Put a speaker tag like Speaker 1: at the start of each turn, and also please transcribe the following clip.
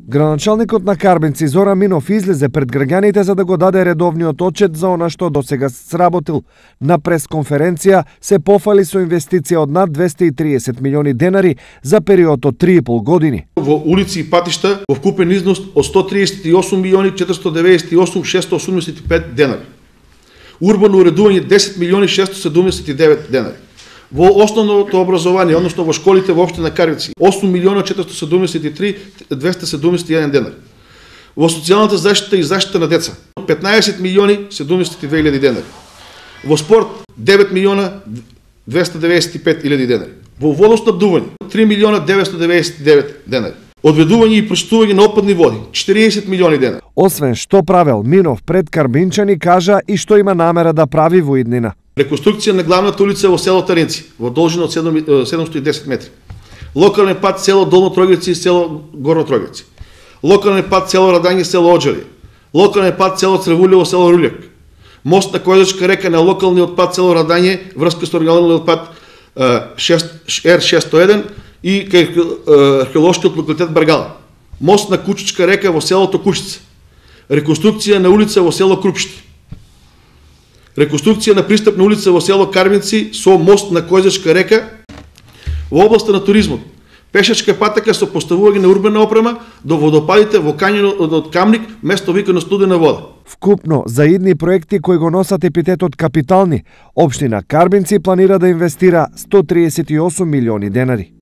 Speaker 1: Градоначалникот на Карбинци Зоран Минов излезе пред граѓаните за да го даде редовниот отчет за она што досега сработил. На пресконференција се пофали со инвестиција од над 230 милиони денари за период од 3,5 години.
Speaker 2: Во улици и патишта во вкупен износ од 138 милиони 498 685 денари. Урбано уредување 10 милиони 679 денари. Во основното образование, односно во школите во општина Карбинци, 8 милиона 473 271 денари. Во социјалната заштита и заштита на деца, 15 милиони 72 илјади денари. Во спорт, 9 милиона 295 илјади денари. Во водоснабдување, 3 милиона 999 денари. Одведување и прочистување на отпадни води, 40 милиони денари.
Speaker 1: Освен што правел, Минов пред карбинчани кажа и што има намера да прави во иднина.
Speaker 2: Реконструкција на главната улица во село Таринци, во должина од 710 метри. Локален пат село Долно Тројгевци и село Горно Тројгевци. Локален пат село Радање, село Оџари. Локален пат село Црвулево, село Руљак. Мост на Којзачка река на локалниот пат село Радање, врска со оригиналниот пат Р601 и кај археолошкиот локалитет Баргала. Мост на Кучичка река во селото Кушица. Реконструкција на улица во село Крупшти. Реконструкција на пристапна улица во село Карбинци со мост на Којзачка река. Во областа на туризмот, пешачка патека со поставување на урбана опрема до водопадите во кањонот од Камник, место викано Студена вода.
Speaker 1: Вкупно за идни проекти кои го носат епитетот капитални, општина Карбинци планира да инвестира 138 милиони денари.